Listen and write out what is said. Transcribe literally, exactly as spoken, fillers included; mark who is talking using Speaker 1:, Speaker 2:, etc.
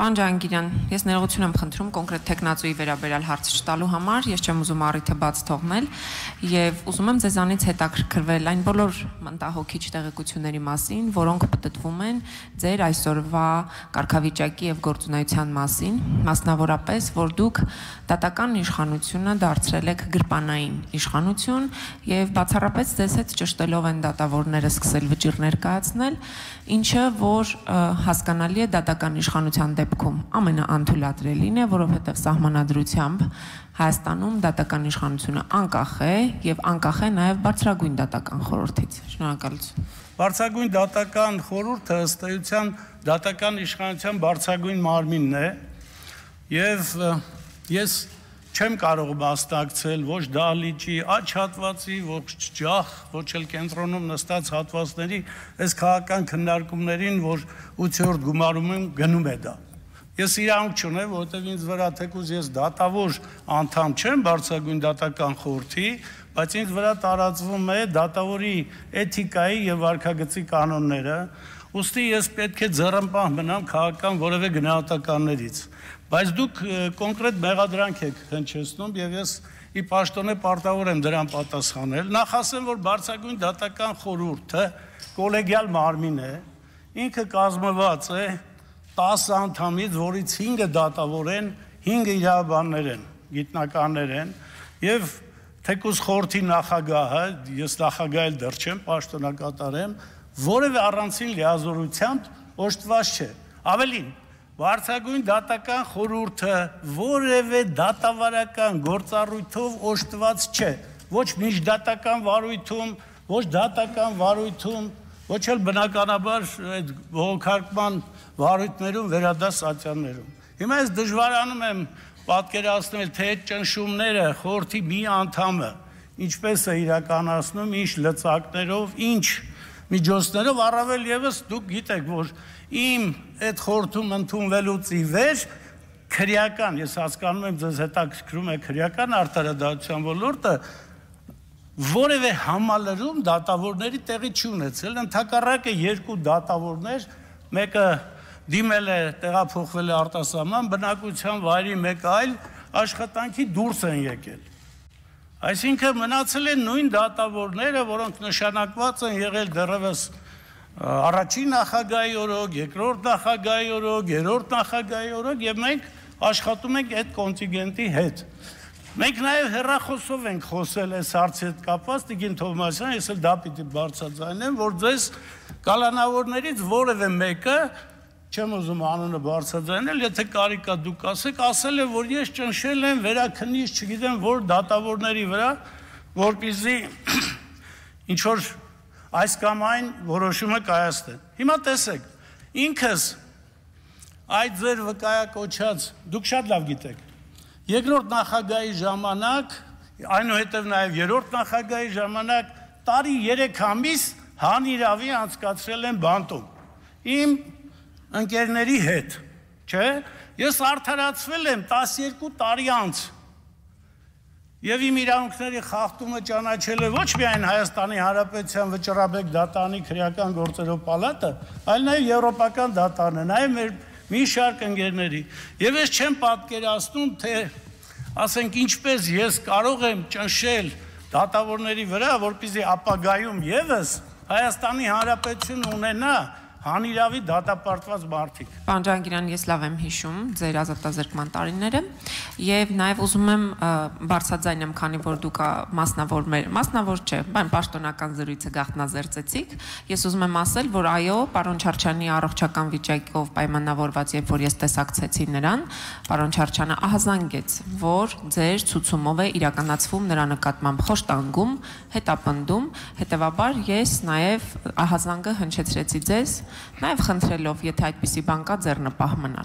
Speaker 1: Պարոն Ջահանգիրյան, ես ներողություն եմ խնդրում կոնկրետ տեխնացուի վերաբերյալ հարց չտալու համար, ես չեմ ուզում առիթը բաց թողնել եւ ուզում եմ ձեզանից հետաքրքրվել այն բոլոր մտահոգիչ տեղեկությունների մասին, որոնք պատտվում են ձեր այսօրվա կարգավիճակի եւ գործունեության մասին, մասնավորապես, որ դուք դատական իշխանությունը դարձրել եք գրպանային իշխանություն եւ բացառապես ձեզ հետ ճշտելով են դատավորները սկսել վճիռներ կայացնել, ինչը որ հասկանալի է դատական իշխանության դեպքում ամենաանթույլատրելին է, որովհետև սահմանադրությամբ Հայաստանում դատական իշխանությունը անկախ է եւ անկախ է նաեւ բարձրագույն դատական խորհրդից։ Շնորհակալություն։
Speaker 2: Բարձրագույն դատական խորհուրդը ըստ էության դատական իշխանության բարձրագույն մարմինն է եւ ես չեմ կարող մասնակցել ոչ դահլիճի աջ հատվածի, ոչ ջախ, ոչ էլ կենտրոնում նստած հատվածների այս քաղաքական քննարկումներին, որ ութերորդ գումարում գնում է դա։ Ես իրանք չունեմ, որովհետև ինձ վրա թեկուզ ես դատավոր անդամ չեմ բարձրագույն դատական խորհրդի, բայց ինձ վրա տարածվում է դատավորի էթիկայի եւ վարքագծի կանոնները, ուստի ես պետք է ձեռնպահ մնամ քաղաքական որևէ գնահատականներից։ Բայց դուք կոնկրետ մեղադրանք եք հնչեցնում եւ ես ի պաշտոնե պարտավոր եմ դրան պատասխանել։ Նախ ասեմ, որ բարձրագույն դատական խորհուրդը կոլեգիալ մարմին է, ինքը կազմված է տասը անդամից, որից հինգը դատավոր են, հինգը իրավաբաններ են, գիտնականներ են եւ թեկուզ խորհրդի նախագահը, ես նախագահ դեռ չեմ, պաշտոնակատար եմ, որևէ առանցին լիազորությամբ օժտված չէ։ Ավելին, բարձրագույն դատական խորհուրդը որևէ դատավարական գործառույթով օժտված չէ, ոչ միջդատական վարույթում, ոչ դատական վարույթում, ոչ էլ բնականաբար այդ բողոքարկման վարույթներում, վերադաս ատյաններում։ Հիմա ես դժվարանում եմ պատկերացնել, թե այդ ճնշումները խորհրդի մի անդամը ինչպես է իրականացնում, ինչ լծակներով, ինչ միջոցներով, առավել եւս դուք գիտեք, որ իմ այդ խորհրդում ընդունվելուց ի վեր քրեական, ես հասկանում եմ ձեզ հետաքրքրում է քրեական արտարադատության ոլորտը, որևէ համալրում դատավորների տեղի չի ունեցել, ընդհակառակը երկու դատավորներ, մեկը դիմել է, տեղափոխվել է արտասահման բնակության վայրի, մեկը այլ աշխատանքի դուրս են եկել։ Այսինքն մնացել են նույն դատավորները, որոնք նշանակված են եղել դեռևս առաջին նախագահի օրոք, երկրորդ նախագահի օրոք, երրորդ նախագահի օրոք եւ մենք աշխատում ենք այդ կոնտինգենտի հետ։ Մենք նաեւ հեռախոսով ենք խոսել այս հարցի հետ կապված, Տիկին Թովմասյան, ես էլ դա պիտի բարձրաձայնեմ, որ ձեզ կալանավորներից որևէ մեկը, չեմ ուզում անունը բարձրաձայնել, եթե կարիք կա դուք ասեք, ասել է, որ ես ճնշել եմ վերաքննիչ, չգիտեմ, որ դատավորների վրա, որպեսզի ինչ որ այս կամ այն որոշումը կայացնեն։ Հիմա տեսեք, ինքս այդ ձեր վկայակոչած, դուք շատ լավ գիտեք, երկրորդ նախագահի ժամանակ, այնուհետև նաև երրորդ նախագահի ժամանակ տարի երեք ամիս հանիրավի անցկացրել եմ բանտում։ Իմ ընկերների հետ, չէ՞, ես արդարացվել եմ տասներկու տարի անց։ Եվ իմ իրավունքների խախտումը ճանաչել է ոչ միայն Հայաստանի Հանրապետության վճռաբեկ դատարանի քրեական գործերով պալատը, այլ նաև եվրոպական դատարանը, նաև մեր մի շարք ընկերների։ Եվ ես չեմ պատկերացնում, թե ասենք ինչպես ես կարող եմ ճնշել դատավորների վրա, որպեսզի ապագայում եւս Հայաստանի Հանրապետությունը ունենա հանիրավի դատապարտված մարդիկ։
Speaker 1: Պարոն Ջահանգիրյան, ես լավ եմ հիշում ձեր ազատազրկման տարիները եւ նաեւ ուզում եմ բարձրաձայն եմ, քանի որ դուք մասնավոր մեր մասնավոր չէ, բան պաշտոնական զրույցը գաղտնազերծեցիք, ես ուզում եմ ասել, որ այո, պարոն Չարչյանի առողջական վիճակով պայմանավորված, երբ որ ես տեսակցեցի նրան, պարոն Չարչյանը ահազանգեց, որ ձեր ցուցումով է իրականացվում նրա նկատմամբ խոշտանգում, հետապնդում, հետեւաբար ես նաեւ ահազանգը հնչեցրեցի ձեզ, նաև խնդրելով, եթե այդպիսի բան կա, ձեռնպահ մնալ։